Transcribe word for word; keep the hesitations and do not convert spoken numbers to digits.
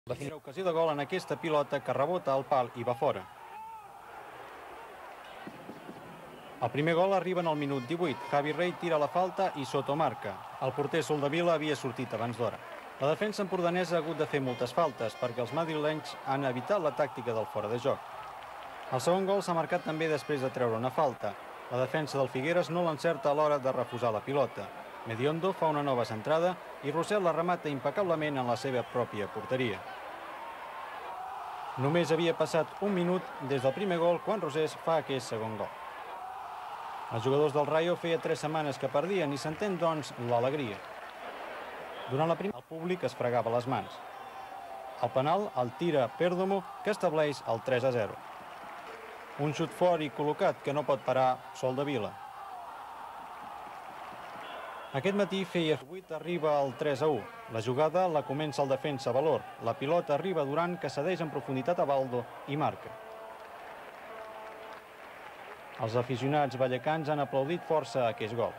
La primera ocasió de gol en aquesta pilota que rebota al pal i va fora. El primer gol arriba en el minut divuit. Javi Rey tira la falta i Soto marca. El porter Soldevila havia sortit abans d'hora. La defensa empordanesa ha hagut de fer moltes faltes perquè els madrilenys han evitat la tàctica del fora de joc. El segon gol s'ha marcat també després de treure una falta. La defensa del Figueres no l'encerta a l'hora de refusar la pilota. Mediondo fa una nova centrada i Rossell la remata impecablement en la seva pròpia porteria. Només havia passat un minut des del primer gol quan Rosés fa aquest segon gol. Els jugadors del Rayo feia tres setmanes que perdien i s'entén, doncs, l'alegria. Durant la primera, el públic es fregava les mans. El penal el tira Perdomo, que estableix el tres a zero. Un xut fort i col·locat que no pot parar Soldevila. Aquest matí feia vuit, arriba al tres a u. La jugada la comença el defensa Valor. La pilota arriba a Duran, que cedeix en profunditat a Baldo i marca. Els aficionats vallecans han aplaudit força aquest gol.